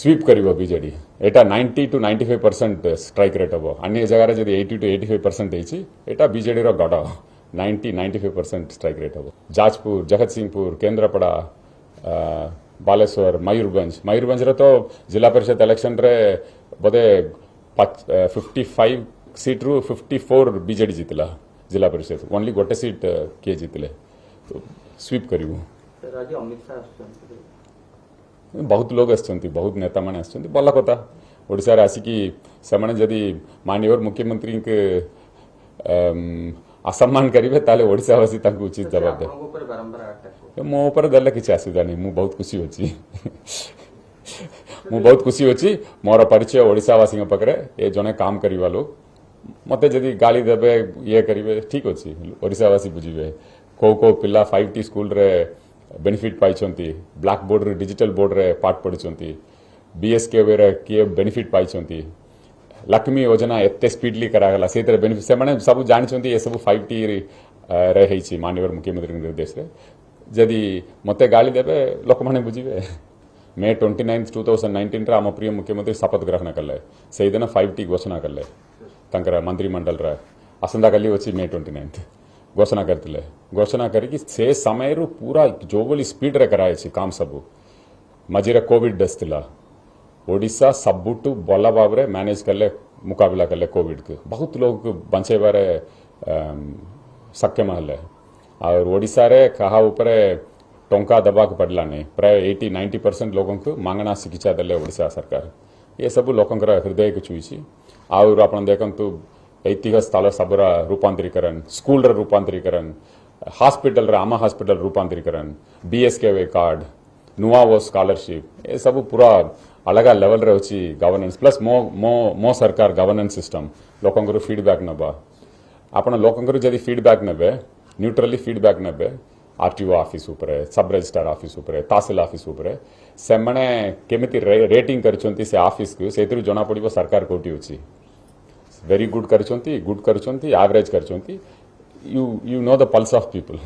Sweep କରିବ BJD. ଏଇଟା 90 to 95% strike rate ହେବ। ଅନ୍ୟ ଜାଗାରେ ଯଦି 80 to 85% ହେଇଛି, ଏଇଟା ବିଜେଡିର ଗଡ଼। 90-95% ଷ୍ଟ୍ରାଇକ୍ ରେଟ୍ ହେବ। ଯାଜପୁର, ଜଗତସିଂହପୁର, କେନ୍ଦ୍ରାପଡ଼ା, ବାଲେଶ୍ୱର, ମୟୂରଭଞ୍ଜ। ମୟୂରଭଞ୍ଜରେ ତ ଜିଲ୍ଲା ପରିଷଦ ଇଲେକ୍ସନରେ ବୋଧେ 55 ସିଟ୍ରୁ 54 ବିଜେଡି ଜିତିଲା ଜିଲ୍ଲା ପରିଷଦ। ଓନ୍ଲି ଗୋଟେ ସିଟ୍ କିଏ ଜିତିଲେ। ସ୍ୱିପ୍ କରିବୁ। ସାର୍, ଆଜି ଅମିତ ଶାହ ଆସୁଛନ୍ତି। ବହୁତ ଲୋକ ଆସିଛନ୍ତି, ବହୁତ ନେତାମାନେ ଆସିଛନ୍ତି। ଭଲ କଥା। ଓଡ଼ିଶାରେ ଆସିକି ସେମାନେ ଯଦି ମାନ୍ୟବର ମୁଖ୍ୟମନ୍ତ୍ରୀଙ୍କୁ ଅସମ୍ମାନ କରିବେ, ତାହେଲେ ଓଡ଼ିଶାବାସୀ ତାଙ୍କୁ ଉଚିତ ସେ ଜବାବ ଦେବେ। ଆପଣଙ୍କ ଉପରେ ବାରମ୍ବାର ଆଟାକ୍ କରୁଛନ୍ତି। ମୋ ଉପରେ ଦେଲେ କିଛି ଅସୁବିଧା ନାହିଁ। ମୁଁ ବହୁତ ଖୁସି ଅଛି, ମୁଁ ବହୁତ ଖୁସି ଅଛି। ମୋର ପରିଚୟ ଓଡ଼ିଶାବାସୀଙ୍କ ପାଖରେ, ଏ ଜଣେ କାମ କରିବା ଲୋକ। ମୋତେ ଯଦି ଗାଳି ଦେବେ, ଇଏ କରିବେ, ଠିକ୍ ଅଛି। ଓଡ଼ିଶାବାସୀ ବୁଝିବେ କେଉଁ କେଉଁ ପିଲା 5ଟି ସ୍କୁଲରେ ବେନିଫିଟ୍ ପାଇଛନ୍ତି, ବ୍ଲାକ୍ ବୋର୍ଡ଼ରେ ଡିଜିଟାଲ ବୋର୍ଡ଼ରେ ପାଠ ପଢ଼ିଛନ୍ତି, ବିଏସ୍କେୱାଇରେ କିଏ ବେନିଫିଟ୍ ପାଇଛନ୍ତି, ଲକ୍ଷ୍ମୀ ଯୋଜନା ଏତେ ସ୍ପିଡଲି କରାଗଲା, ସେଇଥିରେ ବେନିଫିଟ୍ ସେମାନେ ସବୁ ଜାଣିଛନ୍ତି। ଏସବୁ 5ଟି ରେ ହେଇଛି ମାନ୍ୟବର ମୁଖ୍ୟମନ୍ତ୍ରୀଙ୍କ ନିର୍ଦ୍ଦେଶରେ। ଯଦି ମୋତେ ଗାଳି ଦେବେ, ଲୋକମାନେ ବୁଝିବେ। May 29, 2019ରେ ଆମ ପ୍ରିୟ ମୁଖ୍ୟମନ୍ତ୍ରୀ ଶପଥ ଗ୍ରହଣ କଲେ। ସେଇଦିନ 5ଟି ଘୋଷଣା କଲେ ତାଙ୍କର ମନ୍ତ୍ରିମଣ୍ଡଳରେ। ଆସନ୍ତାକାଲି ଅଛି ମେ 29। ଘୋଷଣା କରିଥିଲେ। ଘୋଷଣା କରିକି ସେ ସମୟରୁ ପୁରା ଯେଉଁଭଳି ସ୍ପିଡରେ କରାଯାଇଛି କାମ ସବୁ। ମଝିରେ କୋଭିଡ ଆସିଥିଲା, ଓଡ଼ିଶା ସବୁଠୁ ଭଲ ଭାବରେ ମ୍ୟାନେଜ କଲେ, ମୁକାବିଲା କଲେ କୋଭିଡକୁ। ବହୁତ ଲୋକ ବଞ୍ଚେଇବାରେ ସକ୍ଷମ ହେଲେ। ଆଉ ଓଡ଼ିଶାରେ କାହା ଉପରେ ଟଙ୍କା ଦେବାକୁ ପଡ଼ିଲା ନାହିଁ। ପ୍ରାୟ 80-90% ଲୋକଙ୍କୁ ମାଗଣା ଚିକିତ୍ସା ଦେଲେ ଓଡ଼ିଶା ସରକାର। ଏସବୁ ଲୋକଙ୍କର ହୃଦୟକୁ ଛୁଇଁଛି। ଆଉ ଆପଣ ଦେଖନ୍ତୁ, ଐତିହ୍ୟ ସ୍ଥଳ ସବୁର ରୂପାନ୍ତରୀକରଣ, ସ୍କୁଲର ରୂପାନ୍ତରୀକରଣ, ହସ୍ପିଟାଲର, ଆମ ହସ୍ପିଟାଲ ରୂପାନ୍ତରୀକରଣ, ବିଏସ୍କେୱାଇ କାର୍ଡ, ନୂଆ ଓ ସ୍କଲାରସିପ୍, ଏସବୁ ପୁରା ଅଲଗା ଲେଭେଲରେ ଅଛି ଗଭର୍ଣ୍ଣାନ୍ସ। ପ୍ଲସ୍ ମୋ ମୋ ମୋ ସରକାର ଗଭର୍ଣ୍ଣାନ୍ସ ସିଷ୍ଟମ, ଲୋକଙ୍କର ଫିଡବ୍ୟାକ୍ ନେବା। ଆପଣ ଲୋକଙ୍କର ଯଦି ଫିଡବ୍ୟାକ୍ ନେବେ, ନ୍ୟୁଟ୍ରାଲି ଫିଡବ୍ୟାକ୍ ନେବେ, ଆରଟିଓ ଅଫିସ ଉପରେ, ସବ୍ ରେଜିଷ୍ଟ୍ରାର ଅଫିସ ଉପରେ, ତହସିଲ ଅଫିସ ଉପରେ, ସେମାନେ କେମିତି ରେଟିଂ କରିଛନ୍ତି ସେ ଅଫିସକୁ, ସେଇଥିରୁ ଜଣାପଡ଼ିବ ସରକାର କୋଉଠି ଅଛି। ଭେରି ଗୁଡ୍ କରିଛନ୍ତି, ଗୁଡ୍ କରିଛନ୍ତି, ଆଭରେଜ କରିଛନ୍ତି। You know the pulse of people.